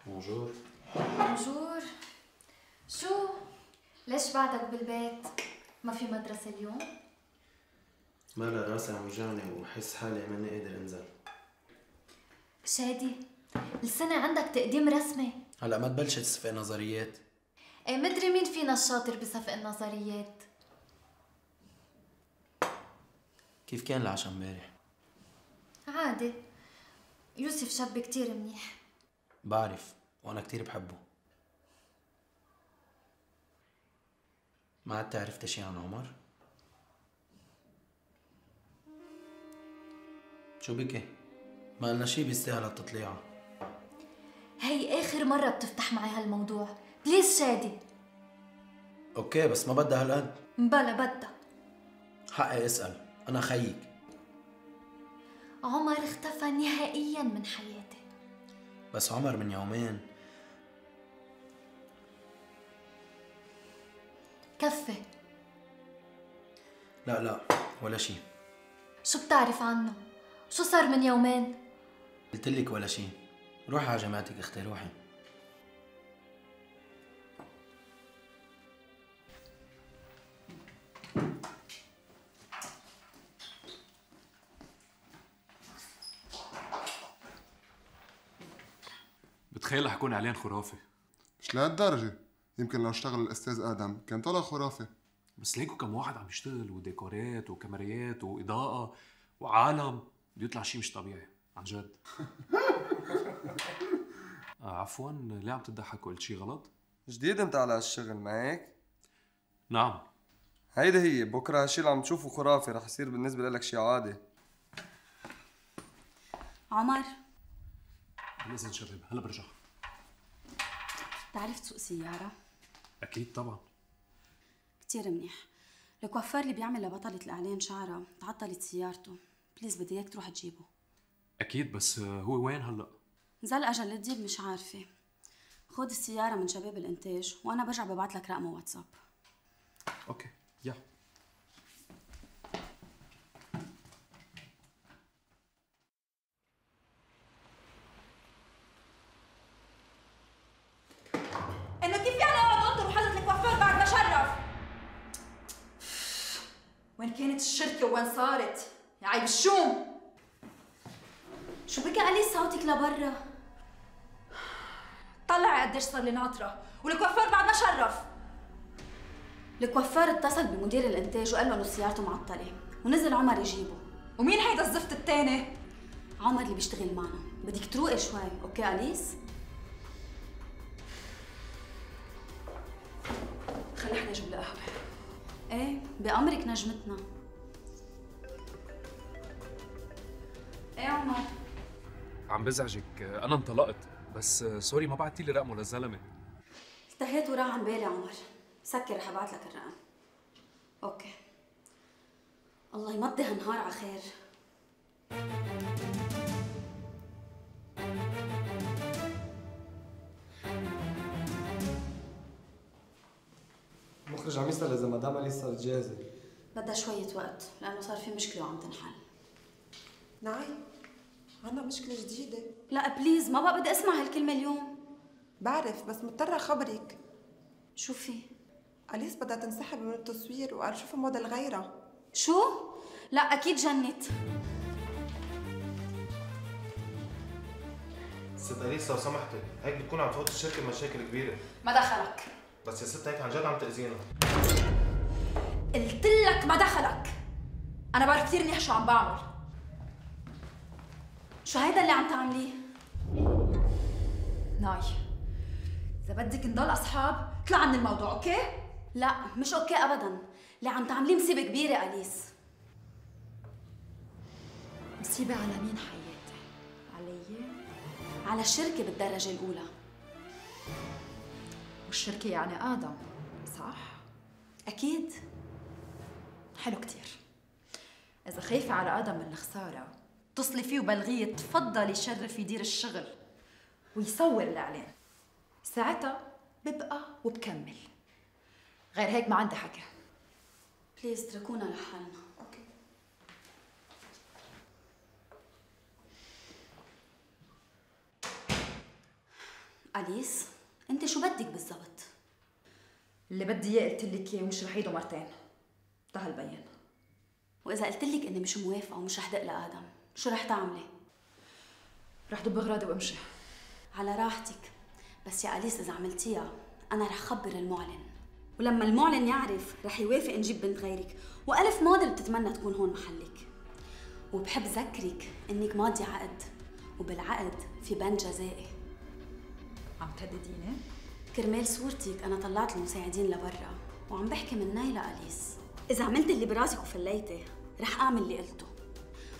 بونجور. بونجور. شو؟ ليش بعدك بالبيت؟ ما في مدرسة اليوم؟ مالا راسي عم يوجعني وحس حالي ماني قادر انزل. شادي، السنة عندك تقديم رسمي. هلا ما تبلشت صفق نظريات. ايه مدري مين فينا الشاطر بصفق النظريات. كيف كان العشاء امبارح؟ عادي. يوسف شاب كتير منيح. بعرف وانا كتير بحبه. ما عدت عرفتي شي عن عمر؟ شو بكي؟ ما قلنا شي بيستاهل التطليعة. هي آخر مرة بتفتح معي هالموضوع، بليز شادي. اوكي بس ما بدها هالقد. بلا بدها. حقي اسأل، أنا خيك. عمر اختفى نهائياً من حياتي. بس عمر من يومين. كفي. لا ولا شي. شو بتعرف عنه؟ شو صار من يومين؟ قلتلك ولا شي. روحي على جامعتك اختي روحي. بتخيل رح يكون اعلان خرافي. مش لهالدرجة، يمكن لو اشتغل الأستاذ آدم كان طلع خرافي. بس ليكو كم واحد عم يشتغل وديكورات وكاميرات وإضاءة وعالم، بده يطلع شيء مش طبيعي عن جد. عفوا ليه عم تضحك؟ قلت شيء غلط؟ جديد انت على هالشغل ما هيك؟ نعم. هيدي هي بكره هالشي اللي عم تشوفه خرافي رح يصير بالنسبة لك شيء عادي. عمر لازم شباب هلا برجع. بتعرف تسوق سيارة؟ أكيد طبعا. كتير منيح. الكوافير اللي بيعمل لبطلة الإعلان شعرها تعطلت سيارته، بليز بدي إياك تروح تجيبه. أكيد بس هو وين هلا؟ نزل أجل لتجيب مش عارفة. خذ السيارة من شباب الإنتاج وأنا برجع ببعت لك رقمه واتساب. أوكي يا. انه كيف يعني اقعد انطر وحضرة الكوافير بعد ما شرف؟ وين كانت الشركة وين صارت؟ يا عيب الشوم. شو بكي علي صوتك لبرا؟ طلعي قديش صار لي ناطرة، والكوافير بعد ما شرف. الكوافير اتصل بمدير الإنتاج وقال له إنه سيارته معطلة، ونزل عمر يجيبه. ومين هيدا الزفت التاني؟ عمر اللي بيشتغل معنا. بدك تروقي شوي، أوكي أليس؟ خلي احنا نجيب لها قهوة. ايه بأمرك نجمتنا. ايه عمر؟ عم بزعجك، أنا انطلقت بس سوري ما بعتي لي رقمه للزلمة. التهيت وراح عن بالي عمر. سكر رح ابعت لك الرقم. اوكي. الله يمضي هالنهار على خير. المخرج عم يسأل إذا مدام أليس صارت جاهزة. بدها شوية وقت لأنه صار في مشكلة وعم تنحل. نعم، عنا مشكلة جديدة. لا بليز ما بقى بدي اسمع هالكلمة اليوم. بعرف بس مضطرة أخبرك. شو في؟ أليس بدها تنسحب من التصوير وقال شوفي موديل غيرها. شو؟ لا أكيد جنت. ست أليس لو سمحتي، هيك بتكون عم تفوت الشركة بمشاكل كبيرة. ما دخلك. بس يا ست هيك عن جد عم تأذينا. قلت لك ما دخلك. أنا بعرف كثير منيح شو عم بعمل. شو هيدا اللي عم تعمليه؟ ناي، إذا بدك نضل أصحاب اطلع من الموضوع، أوكي؟ لا مش أوكي أبداً. اللي عم تعمليه مصيبة كبيرة أليس. مصيبة على مين حياتي؟ علي؟ على الشركة بالدرجة الأولى. والشركة يعني آدم، صح؟ أكيد. حلو كتير. إذا خايفة على آدم من الخسارة اتصلي فيه وبلغيه تفضل يشرف يدير الشغل ويصور الإعلان. ساعتها ببقى وبكمل. غير هيك ما عندي حكي. بليز اتركونا لحالنا. اوكي. أليس انت شو بدك بالضبط؟ اللي بدي اياه قلت لك اياه ومش رح عيده مرتين. انتهى البيان. واذا قلت لك اني مش موافقه ومش رح دق لادم شو رح تعملي؟ رح دب اغراضي وامشي. على راحتك، بس يا أليس اذا عملتيها انا رح خبر المعلن، ولما المعلن يعرف رح يوافق نجيب بنت غيرك، والف موديل بتتمنى تكون هون محلك. وبحب ذكرك انك ماضي عقد، وبالعقد في بند جزائي. عم تهدديني؟ كرمال صورتك انا طلعت المساعدين لبرا وعم بحكي من نايلة أليس. اذا عملت اللي براسك وفليتي رح اعمل اللي قلته،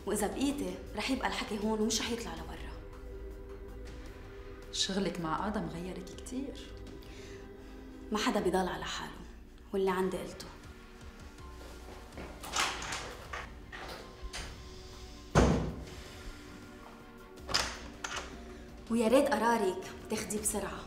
واذا بقيتي رح يبقى الحكي هون ومش رح يطلع لبرا. شغلك مع آدم غيرك كتير. ما حدا بيضل على حاله، واللي عندي قلته. ويا ريت قرارك تاخديه بسرعه.